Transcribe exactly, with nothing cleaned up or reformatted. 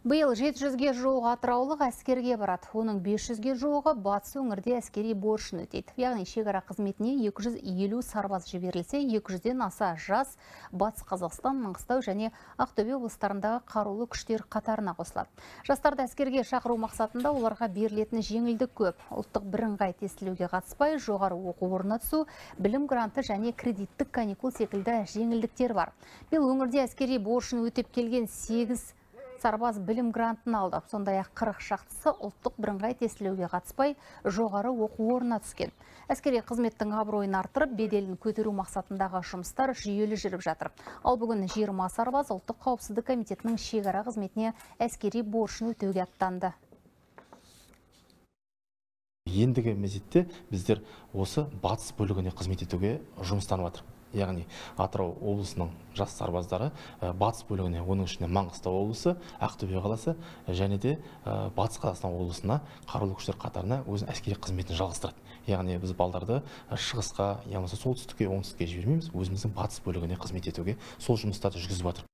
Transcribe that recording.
Биыл жеті жүзге жуық атыраулық әскерге барады. Оның бес жүзге жуығы батыс өңірде әскери борышын өтейді. Яғни шекара қызметіне екі жүз елу сарбаз жіберілсе, екі жүзден аса жас Батыс Қазақстан, Маңғыстау және Ақтөбе облыстарындағы қарулы күштер қатарына қосылады. Жастарды әскерге шақыру мақсатында оларға берілетін жеңілдік көп. Ұлттық бірыңғай тестілеуге қатыспай, жоғары оқу орнына түсу, білім гранты және кредиттік каникул секілді жеңілдіктер бар. Биыл өңірде әскери борышын өтеп келген сегіз сарбаз білім грантын алды. Сондай-ақ қырық шақтысы ұлттық бірыңғай тестілеуге қатыспай, жоғары оқу орнына түскен. Әскери қызметтің абыройын арттырып, беделін көтеру мақсатындағы жұмыстар жүйелі жүріп жатыр. Ал бүгін жиырма сарбаз ұлттық қауіпсіздік комитетінің шекара қызметіне әскери борышын өтеуге аттанды. Ендігі мезетте біздер осы батыс бөлігіне қызмет етуге жұмыстанып жатыр. Яғни Атырау облысының жас сарбаздары батыс бөлігіне, оның ішінде Маңғыстау облысы, Ақтөбе қаласы және де Батыс Қазақстан облысына қарулы күштер қатарына өз әскери қызметін жалғастырады. Яғни біз балдарды шығысқа, яғни солтүстікке, оңтүстікке жібермейміз, өзіміздің батыс бөлігіне қызмет етуге сол жұмыстарды жүргізіп жатыр.